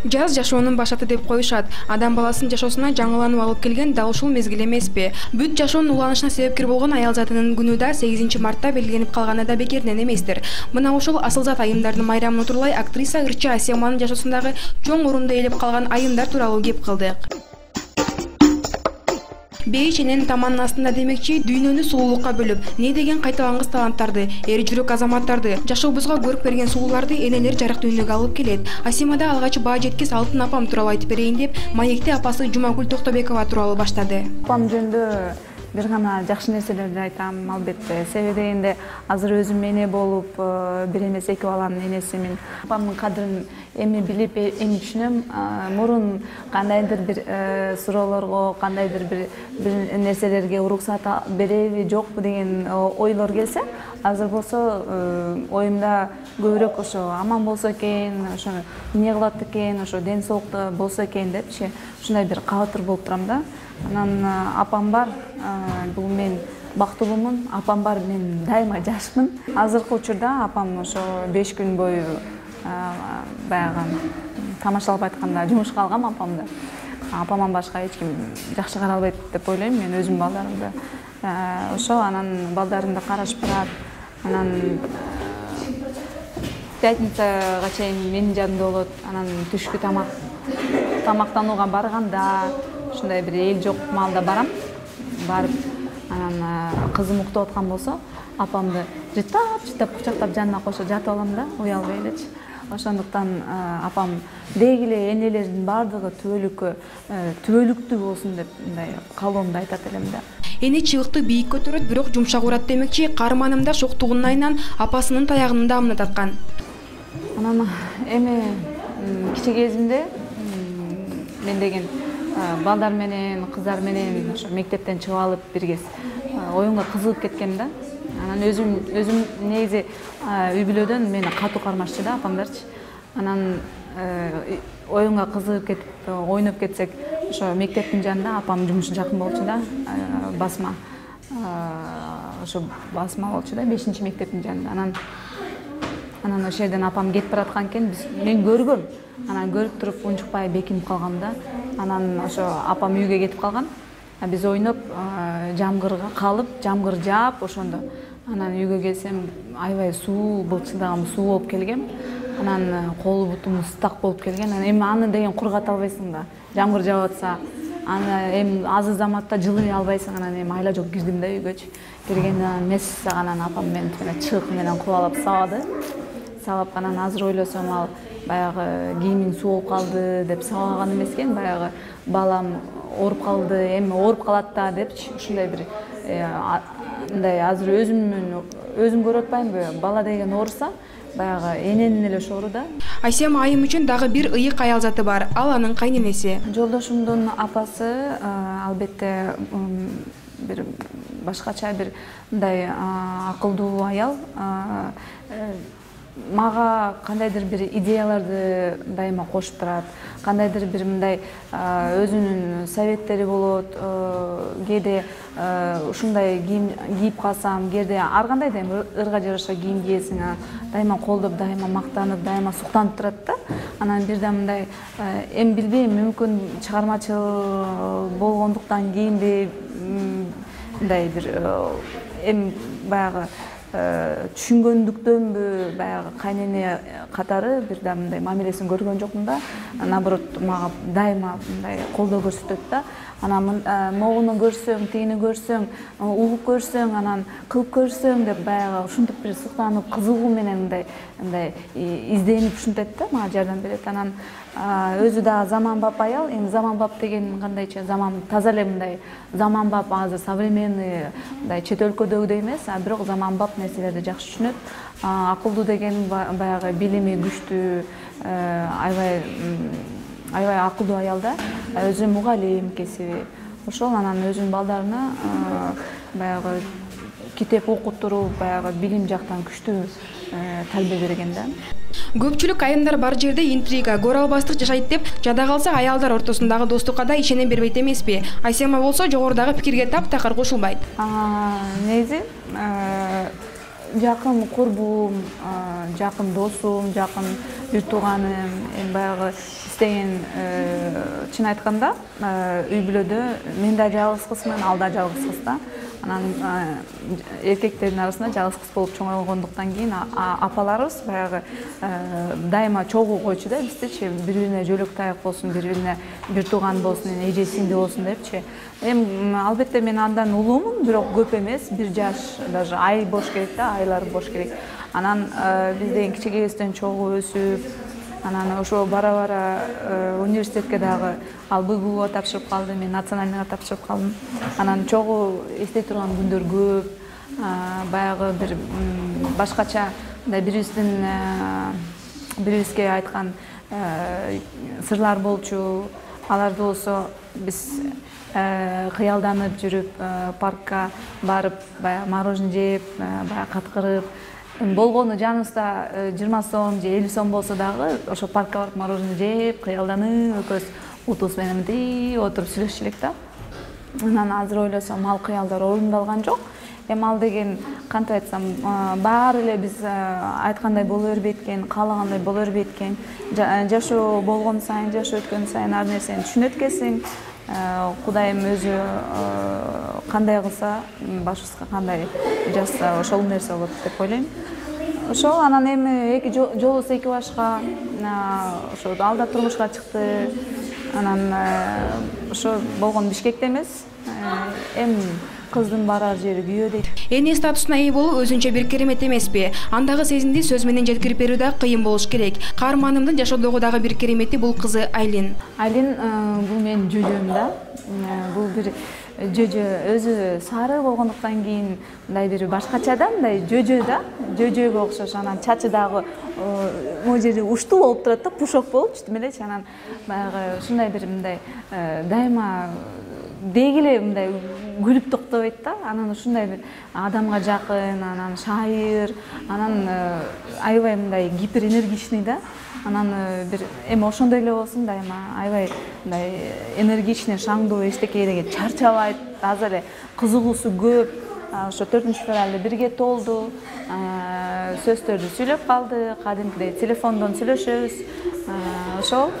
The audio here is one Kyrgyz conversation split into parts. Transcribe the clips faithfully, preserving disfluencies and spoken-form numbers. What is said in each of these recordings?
Жаз жашоонун башаты деп коюшат. Адам баласынын жашоосуна жаңыланып алып келген дал ушул мезгил эмеспи? Бүт жашоонун уланышына себепкер болгон аял затынын күнү да сегизинчи мартта белгиленип калганы да бекеринен эместир. Мына ушул асыл-зат айымдардын майрамын утурлай актриса ырчы Асияманын жашоосундагы чоң орунду ээлеп калган айымдар тууралуу кеп кылдык. Бей чененин таманын астында демекчи дүйнөнү сулуулукка бөлүп, не деген кайталангыс таланттарды, эр жүрөк азаматтарды, жашообузга көрүп берген сулууларды энелер жарык дүйнөгө алып келет. Асимада алгач баа жеткис алтын апам тууралуу айтып берейин деп, маекте апасы Жумагүл Токтобекова тууралуу баштады. Апам жөнүндө бир гана жакшы нерселерди айтам, албетте. Себеби дегенде азыр өзүм эне болуп, бир эмес эки баланын энесимин. Апамдын кадырын эми билип, эми түшүнөм. Мурун кандайдыр бир суроолорго, кандайдыр бир бир нерселерге уруксат береби, жокпу деген ойлор келсе, азыр болсо оюмда көбүрөөк ошо аман болсо экен, ошо эмне кылат экен, ошо ден соолукта болсо экен депчи, ушундай бир кабатыр болуп турам да. Анан апам бар, бул мен бактылуумун, апам бар, мен дайыма жашмын. Азыркы учурда апам ошо беш күн бою баягы тамашалап айтканда жумушка алгам апамды. Апамдан башка эч ким жакшы карай албайт деп ойлойм мен өзүмдүн балдарымды. Ошо анан балдарым да карашып турат. Анан пятницага чейин менин жанымда болот. Анан түшкү тамак тамактанууга барганда ушундай бир эл жок маалда барам. Барып, анан кызым уктап аткан болсо, апамды жытап-жытап кучактап жанына кошо жатып алам да, уялбай элечи. Ошондуктан апам деги эле энелердин баардыгы түбөлүккө түбөлүктүү болсун деп мындай каалоомду айтат элем да. Эне чыбыкты бийик көтөрөт, бирок жумшак урат демекчи, каарманым да шоктугунун айынан апасынын таягынын даамына таткан. Анан эми кичи кезимде мен деген балдар менен, кыздар менен ошо мектептен чыгып алып биргес оюнга кызыгып кеткем да. Анан өзүм өзүм негизи үй бүлөдөн мени катуу кармашчу да апамдарчы. Анан оюнга кызыгып кетип ойноп кетсек, ошо мектептин жанында апам жумушу жакын болчу да, басма. Ошо басма болчу да, бешинчи мектептин жанында. Анан анан ошол жерден апам кетип бараткан экен, мен көргөм. Анан көрүп туруп унчукпай бекинип калгам да. Анан ошо апам үйгө кетип калган. Биз ойноп, жамгырга калып, жамгыр жаап ошондо. Анан үйгө келсем, аябай суу, былчылдаган суу болуп келгем. Анан колу бутум ыстак болуп келген. Анан эми аны деген кургата албайсың да. Жамгыр жаап атса, аны эми азыр заматта жылый албайсың. Анан эми айла жок кирдим да үйгөчү. Киргенден мессаган апам мени чыгык менен кубалап сабады. Сабап анан азыр ойлосом ал баягы кийимиң суу болуп калды деп сабаган эмес экен, баягы балам ооруп калды, эми ооруп калат да депчи, ушундай бир мындай азыр өзүмдүн өзүм көрүп атпаймынбы, бала деген ооруса, баягы эненин эле шору да. Асема айым үчүн дагы бир ыйык аял заты бар, ал анын кайненеси. Жолдошумдун апасы албетте бир башкача бир мындай акылдуу аял. Мага кандайдыр бир идеяларды дайыма кошуп турат, кандайдыр бир мындай өзүнүн советтери болот, кээде ушундай кийим кийип калсам, кээде ар кандай да ырга жараша кийим кийесиң, дайыма колдоп, дайыма мактанып, дайыма суктанып турат да. Анан бир да мындай эми билбейм, мүмкүн чыгармачыл болгондуктан кийимди мындай бир эми баягы түшүнгөндүктөнбү, баягы кайнене катары бир да мындай мамилесин көргөн жокмун да. Наоборот, мага дайыма мындай колдоо көрсөтөт да. Анан могуну көрсөң, тигини көрсөң, угуп көрсөң, анан кылып көрсөң деп баягы ушинтип бир суктанып, кызыгуу менен мындай мындай изденип ушинтет да, мага жардам берет. Анан өзү да заманбап аял. Эми заманбап деген кандайча, заман таза эле мындай заманбап, азыр современный мындай чет өлкөдөгүдөй эмес, а бирок заманбап нерселерди жакшы түшүнөт. Акылдуу деген баягы билими күчтүү, аябай аябай акылдуу аял да. Өзү мугалим кесиби. Ошол анан өзүнүн балдарына баягы китеп окуттуруп, баягы билим жактан күчтүү тарбия берген да. Көпчүлүк айымдар бар жерде интрига, көр албастык жашайт деп жада калса, аялдар ортосундагы достукка да ишене бербейт эмеспи? Асема болсо жогорудагы пикирге таптакыр кошулбайт. Негизи жакын курбум, жакын досум, жакын бир тууганым, баягы деген чын айтканда үй бүлөдө мен да жалгыз кызмын, ал да жалгыз кыз да. Анан эркектердин арасында жалгыз кыз болуп чоңойгондуктан кийин апаларыбыз баягы дайыма чогуу койчу да биздичи, бири-бирине жөлөк таяк болсун, бири-бирине бир тууган болсун, эже сиңди болсун депчи. Эми албетте мен андан улуумун, бирок көп эмес, бир жаш, даже ай бош керек да, айлар бош керек. Анан биз деген кичигебизден чогуу өсүп, анан ошо бара-бара университетке дагы ал БГУга тапшырып калды, мен национальныйга тапшырып калдым. Анан чогуу эстей турган күндөр көп, баягы бир башкача мындай бирибиздин бирибизге айткан сырлар болчу. Аларды болсо биз кыялданып жүрүп, паркка барып, баягы мороженое жеп, баягы каткырып, болгону жаныбызда жыйырма сом же элүү сом болсо дагы ошо паркка барып мороженое жеп, кыялданып, экөөбүз утубуз менен мынтип отуруп сүйлөшчү элек да. Анан азыр ойлосом, ал кыялдар орундалган жок. Эми ал деген кантип айтсам, баары эле биз айткандай боло бербейт экен, каалагандай боло бербейт экен. Жашоо болгон сайын, жашоо өткөн сайын ар нерсени түшүнөт экенсиң. Кудайым өзү кандай кылса, башыбызга кандай жазса, ошол нерсе болот деп ойлойм. Ошол анан эми эки жолубуз эки башка, ошо ал да турмушка чыкты. Анан ошо болгон Бишкекте эмес, эми кыздын барар жери күйөө дейт. Эне статусуна ээ болуу өзүнчө бир керемет эмеспи? Андагы сезимди сөз менен жеткирип берүү да кыйын болуш керек. Каарманымдын жашоодогу дагы бир керемети бул кызы Айлин. Айлин бул менин жөжөм да. Бул бир жөжө, өзү сары болгондуктан кийин мындай бир башкача да, мындай жөжө да, жөжөгө окшош. Анан чачы дагы могу жери уштуу болуп турат да, пушок болуп түтүп элечи. Анан баягы ушундай бир мындай дайыма деги эле мындай күлүп токтобойт да. Анан ушундай бир адамга жакын, анан шайыр, анан аябай мындай гиперэнергичный да. Анан бир эми ошондой эле болсун, дайыма аябай мындай энергичный, шаңдуу, эчтекеге чарчабайт, азыр эле кызыгуусу көп. Ошо төртүнчү февралда бирге толду. Сөздөрдү сүйлөп калды, кадимкидей телефондон сүйлөшөбүз. Ошол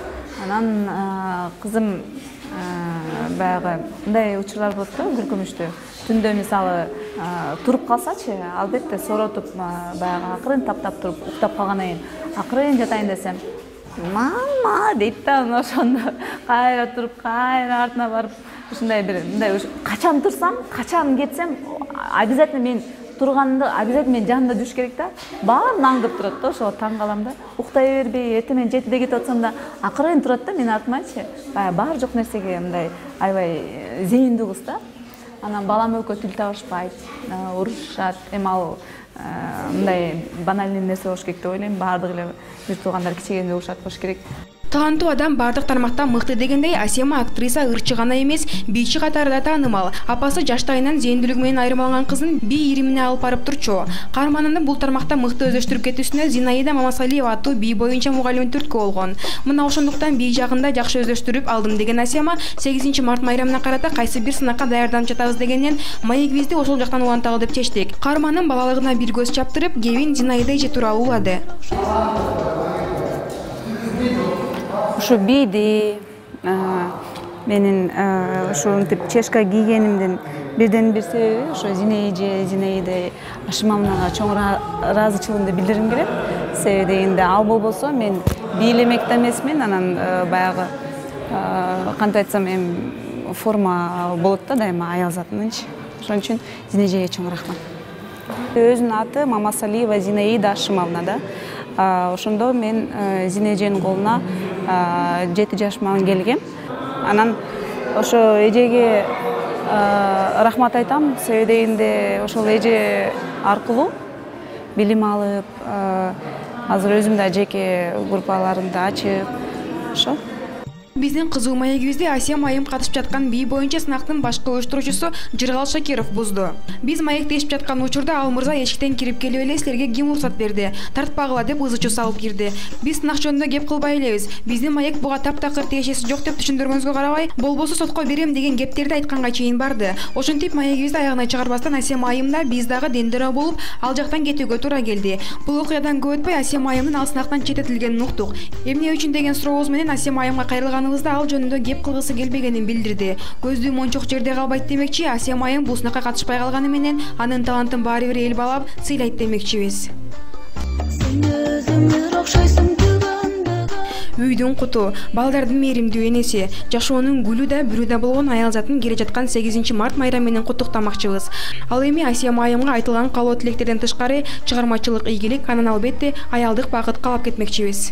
анан кызым баягы мындай учурлар болот да, күркүмүштүү. Түндө мисалы туруп калсачы, албетте соротуп, баягы акырын таптап туруп, уктап калгандан кийин акырын жатайын десем, мама дейт да. Ошондо кайра туруп, кайра артына барып, ушундай бир мындай качан турсам, качан кетсем, обязательно мен турганымды обязательно мен жанымда жүрүш керек да. Баарын аңдып турат да, ошого таң калам да. Уктай бербей, эртең менен жетиде кетип атсам да, акырын турат да менин артымачы. Баягы бар жок нерсеге мындай аябай зээндүү кыз да. Анан балам экөө тил табышпайт, урушушат. Эми ал мындай банальный нерсе болуш керек деп ойлойм. Баардык эле бир туугандар кичигенде урушат болуш керек. Таланттуу адам бардык тармактан мыкты дегендей, Асема актриса ырчы гана эмес, бийчи катары да таанымал. Апасы жаштайынан зээндүүлүгү менен айырмаланган кызын бий иримине алып барып турчу. Каарманымдын бул тармакта мыкты өздөштүрүп кетүүсүнө Зинаида Мамасалиева аттуу бий боюнча мугалими түрткү болгон. Мына ошондуктан бий жагында жакшы өздөштүрүп алдым деген Асема сегизинчи март майрамына карата кайсы бир сынакка даярданып жатабыз дегеннен маегибизди ошол жактан уланталы деп чечтик. Каарманым балалыгына бир көз чаптырып, кебин Зинаида эже тууралуу улады. Ошо бийди менин ушинтип чешка кийгенимдин бирден бир себеби ошо Зинаида Зинаида Ашимовнага чоң ыраазычылыгымды билдиргим келет. Себеби дегенде ал болбосо мен бийлемек да эмесмин. Анан баягы кантип айтсам, эми форма болот да дайыма аял затынынчы. Ошон үчүн Зинаидага чоң рахмат. Өзүнүн аты Мамасалиева Зинаида Ашимовна да. Ошондо мен Зинаиданын колуна жети жашыма келгем. Анан ошо эжеге рахмат айтам. Себеби дегенде ошол эже аркылуу билим алып, азыр өзүм да жеке группаларымды ачып, ошо. Биздин кызуу маегибизди Асия майым катышып жаткан бий боюнча сынактын башкы уюштуруучусу Жыргал Шакиров бузду. Биз маектешип жаткан учурда ал мырза эшиктен кирип келип эле силерге ким уруксат берди, тартпагыла деп ызы-чуу салып кирди. Биз сынак жөнүндө кеп кылбай элебиз. Биздин маек буга таптакыр тиешеси жок деп түшүндүргөнүзгө карабай, болбосо сотко берем деген кептерди айтканга чейин барды. Ошентип маегибизди аягына чыгарбастан Асия майым да биз дагы дендирөө болуп, ал жактан кетүүгө туура келди. Бул окуядан көп өтпөй Асия майымдын ал сынактан четтетилгенин уктук. Эмне үчүн деген сурообуз менен Асия майымга кайрылганыбызда ал жөнүндө кеп кылгысы келбегенин билдирди. Көздүү мончок жерде калбайт демекчи, Асия майым бул сынакка катышпай калганы менен анын талантын баары бир эл баалап сыйлайт демекчибиз. Үйдүн куту, балдардын мээримдүү энеси, жашоонун гүлү да бүрү да болгон аял затын келе жаткан сегизинчи март майрамы менен куттуктамакчыбыз. Ал эми Асия майымга айтылган каалоо тилектерден тышкары чыгармачылык ийгилик, анан албетте аялдык бакыт каалап кетмекчибиз.